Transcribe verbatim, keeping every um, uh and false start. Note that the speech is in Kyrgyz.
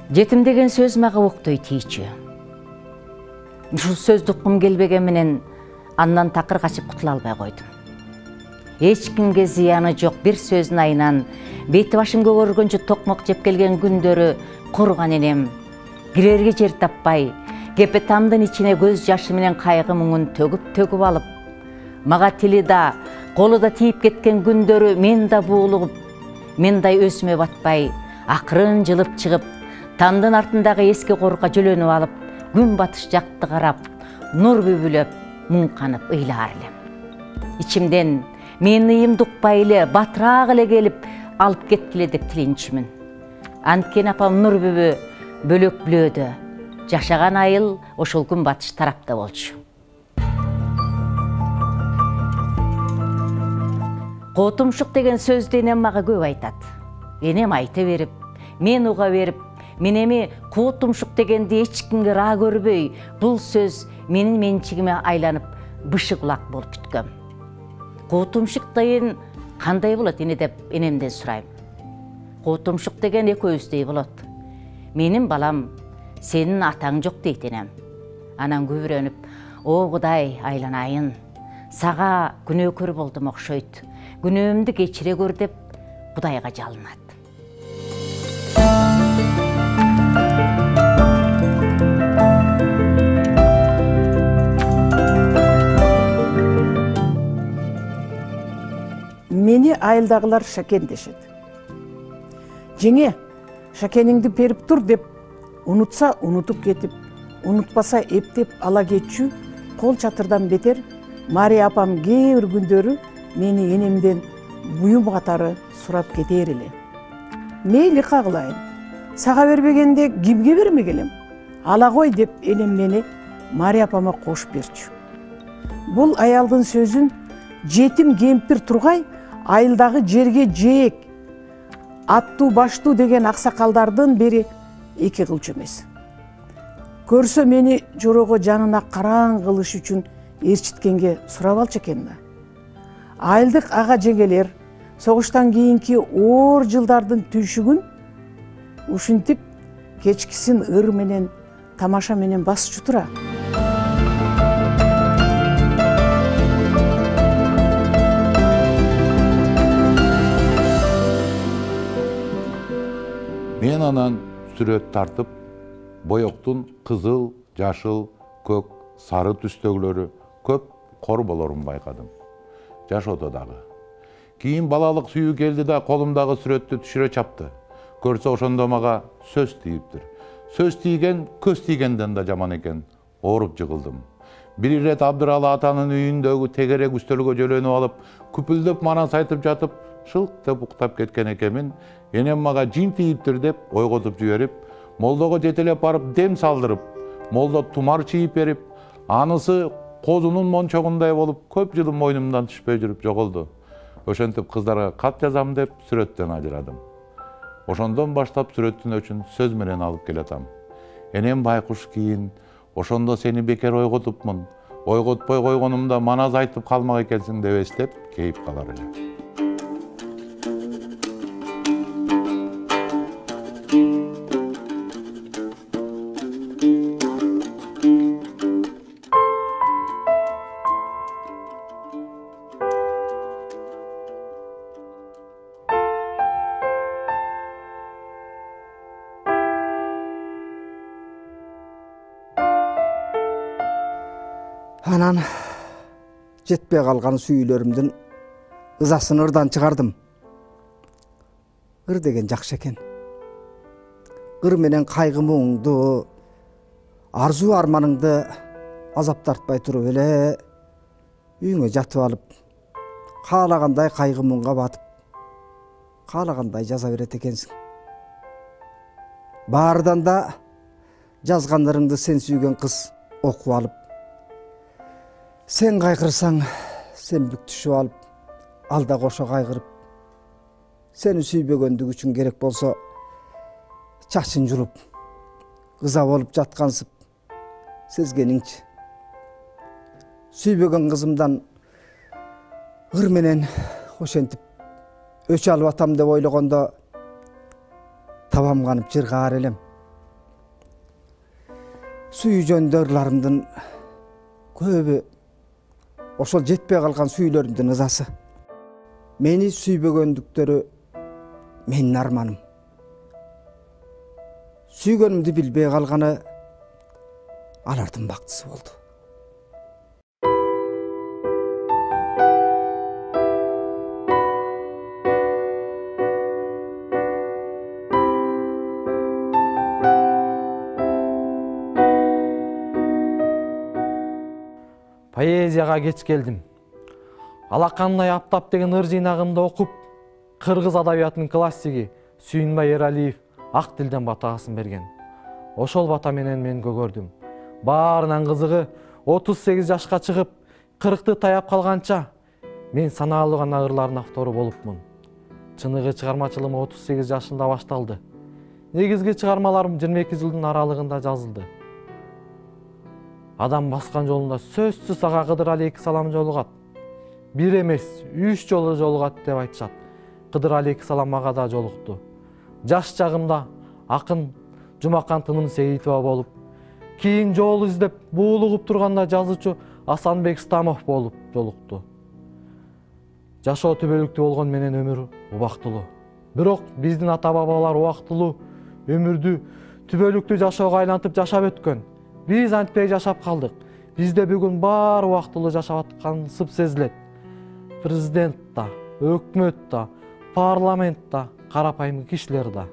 Жетим деген сөз мага октой тийчү. Ушул сөздү уккум келбеген менен андан такыр качып кутула албай койдум. Эч кимге зыяны жок бир сөздүн айынан бети башым көгөргөнчө токмок жеп келген күндөрү курган энем кирерге жер таппай, кепе тамдын ичине көз жашы менен кайгы муңун төгүп-төгүп алып, мага тили да, колу да тийип кеткен күндөрү мен да буулугуп, мендай өзүмө батпай, акырын жылып чыгып, тамдын артындагы эски корукка жөлөнүп алып, күн батыш жакты карап, нур бүбүлөп, муң канып ыйлаар элем. Ичимден мен ыйымды укпай эле, батыраак эле келип, алып кеткиле деп тилинчүмүн. Анткени апам нур бүбү бөлөк бүлөөдө, жашаган айыл ошол күн батыш тарапта болчу. Котумшук деген сөздү энем мага көп айтат. Энем айта берип, мен уга берип, мен эми котумшук дегенди эч кимге ыраа көрбөй, бул сөз менин менчигиме айланып, бышы кулак болуп бүткөм. Котумшук деген кандай болот эне деп энемден сурайм. Котумшук деген экөөбүздөй болот. Менин балам, сенин атаң жок дейт энем. Анан күбүрөнүп, о Кудай айланайын, сага күнөөкөр болдум окшойт. Күнөөмдү кечире көр деп Кудайга жалынат. Мени айылдагылар Шакен дешет. Жеңе, Шакениңди берип тур деп, унутса унутуп кетип, унутпаса эптеп ала кетчү, кол чатырдан бетер Мария апам кээ бир күндөрү мени энемден буюм катары сурап кетер эле. Мейли кагылайын, сага бербегенде кимге бермек элем? Ала кой деп энем мени Мария апама кошуп берчү. Бул аялдын сөзүн жетим кемпир тургай айылдагы жерге жээк, аттуу баштуу деген аксакалдардын бери эки кылчу эмес. Көрсө мени жорого жанына караң кылыш үчүн ээрчиткенге сурап алчу экен да. Айылдык ага жеңелер согуштан кийинки оор жылдардын түйшүгүн ушинтип кечкисин ыр менен, тамаша менен басчу тура. Мен анан сүрөт тартып, боектун кызыл, жашыл, көк, сары түстөгүлөрү көп кор болорун байкадым. Жашоодо дагы. Кийин балалык сүйүү келди да колумдагы сүрөттү түшүрө чапты. Көрсө ошондо мага сөз тийиптир. Сөз тийген көз тийгенден да жаман экен. Ооруп жыгылдым. Бир ирет Абдыралы атанын үйүндөгү тегерек үстөлгө жөлөнүп алып, күпүлдөп манас айтып жатып, шылк деп уктап кеткен экенмин. Энем мага жин тийиптир деп ойготуп жиберип, молдого жетелеп барып дем салдырып, молдо тумар чийип берип, анысы козунун мончогундай болуп, көп жылы мойнумдан түшпөй жүрүп жоголду. Ошентип кыздарга кат жазам деп сүрөттөн ажырадым. Ошондон баштап сүрөттүн өчүн сөз менен алып келатам. Энем байкуш кийин, ошондо сени бекер ойготупмун, ойготпой койгонумда манас айтып калмак экенсиң деп эстеп, кейип калар эле. Анан жетпей калган сүйүүлөрүмдүн ызасын ырдан чыгардым. Ыр деген жакшы экен. Ыр менен кайгы муңду, арзуу арманыңды азап тартпай туруп эле үйүңө жатып алып, каалагандай кайгы муңга батып, каалагандай жаза берет экенсиң. Баардан да жазгандарыңды сен сүйгөн кыз окуп алып, сен кайгырсаң, сен бүктүшүп алып, алда кошо кайгырып, сени сүйбөгөндүгү үчүн керек болсо чачын жулуп, ыза болуп жаткансып сезгениңчи. Сүйбөгөн кызымдан ыр менен ошентип өч алып атам деп ойлогондо табам канып жыргаар элем. сүйүү жөнүндө ырларымдын көбү ошол жетпей калган сүйүүлөрүмдүн ызасы. Мени сүйбөгөндүктөрү менин арманым. Сүйгөнүмдү билбей калганы алардын бактысы болду. Поэзияга кеч келдим. Алакандай аптап деген ыр жыйнагында окуп, кыргыз адабиятынын классиги Сүйүнбай Эралиев ак тилден батагасын берген. Ошол бата менен мен көгөрдүм. Баарынан кызыгы отуз сегиз жашка чыгып, кыркты таяп калганча мен санаалуу гана ырлардын автору болупмун. Чыныгы чыгармачылыгым отуз сегиз жашымда башталды. Негизги чыгармаларым жыйырма эки жылдын аралыгында жазылды. Адам баскан жолунда сөзсүз ага Кыдыр алейхисалам жолугат. Бир эмес, үч жолу жолугат деп айтышат. Кыдыр алейхисалам ага да жолукту. Жаш чагымда акын Жумакан Тыным Сейитова болуп, кийин жол издеп буулугуп турганда жазуучу Асанбек Стамов болуп жолукту. Жашоо түбөлүктүү болгон менен өмүр убактылуу. Бирок биздин ата бабалар убактылуу өмүрдү түбөлүктүү жашоого айлантып жашап өткөн. Биз антпей жашап калдык. Бизде бүгүн баары убактылуу жашап аткансып сезилет. Президент да, өкмөт да, парламент да, карапайым кишилер да.